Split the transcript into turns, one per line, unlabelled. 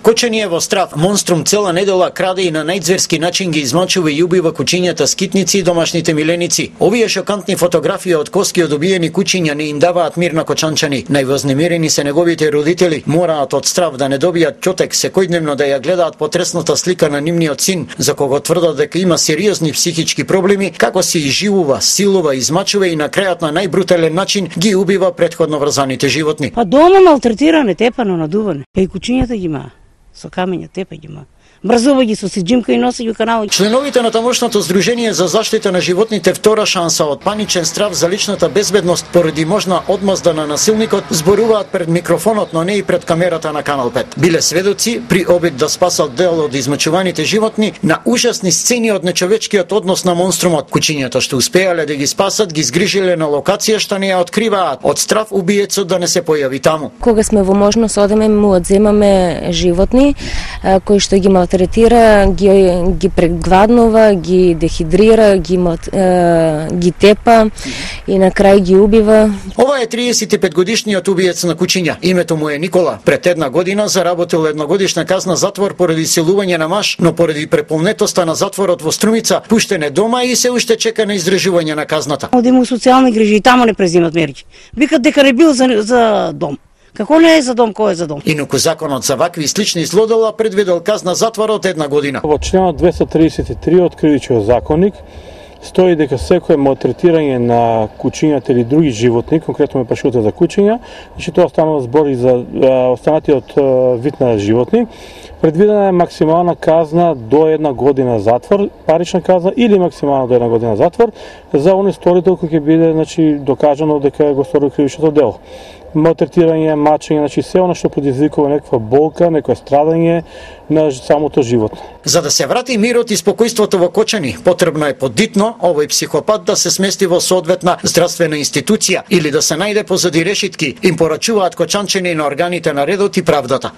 Кочани е во страв. Монструм цела недела краде и на најзверски начин ги измачува и убива кучињата скитници и домашните миленици. Овие шокантни фотографии од коски од убиени кучиња не им даваат мир на кочанчани. Највознемирени се неговите родители. Мораат од страв да не добијат ќотек секојдневно да ја гледаат потресната слика на нивниот син, за кого тврдат дека има сериозни психички проблеми, како се изживува, силува, измачува и на крајот на најбрутален начин ги убива претходно врзаните животни.
Па дома малтретиране, тепано, надуване. И кучињата ги има, со камења тепа ги има. Мрзува ги со сиџимка и носи ги канал.
Членовите на тамошното Здружение за заштита на животните втора шанса од паничен страв за личната безбедност поради можна одмазда на насилникот зборуваат пред микрофонот, но не и пред камерата на Канал 5. Биле сведоци при обид да спасат дел од измачуваните животни на ужасни сцени од нечовечкиот однос на монструмот. Кучињата што успеале да ги спасат ги згрижиле на локација што не ја откриваат од страв убиецот да не се појави таму.
Кога сме во можност одеме му одземаме животни кои што ги третира, ги прегладнува, ги дехидрира, ги тепа и на крај ги убива.
Ова е 35 годишниот убиец на кучиња. Името му е Никола. Пред една година заработил едногодишна казна затвор поради силување на маж, но поради преполнетоста на затворот во Струмица пуштен е дома и се уште чека на издржување на казната.
Оди му социјални грижи и таму не презимат мерки. Викат дека не бил за дом. Како не е за дом, кој е за дом?
Инаку законот за вакви и слични злодела предвидел казна затвор од една година.
Во членот 233 од Кривичниот законник стои дека секое малтретирање на кучињата или други животни, конкретно ме прашувате за кучиња, значи тоа станува збор и за останатиот вид на животни, предвидена е максимална казна до една година затвор, парична казна или максимална до една година затвор за оној сторител кој ќе биде докажано дека го сторил кривичното дело. Малтретирање, мачење, се оно што предизвикува некаква болка, некој страдање на самото животно.
За да се врати мирот и спокојството во Кочани, потребно е подитно овој психопат да се смести во соодветна здравствена институција или да се најде позади решетки, им порачуваат кочанчани на органите на редот и правдата.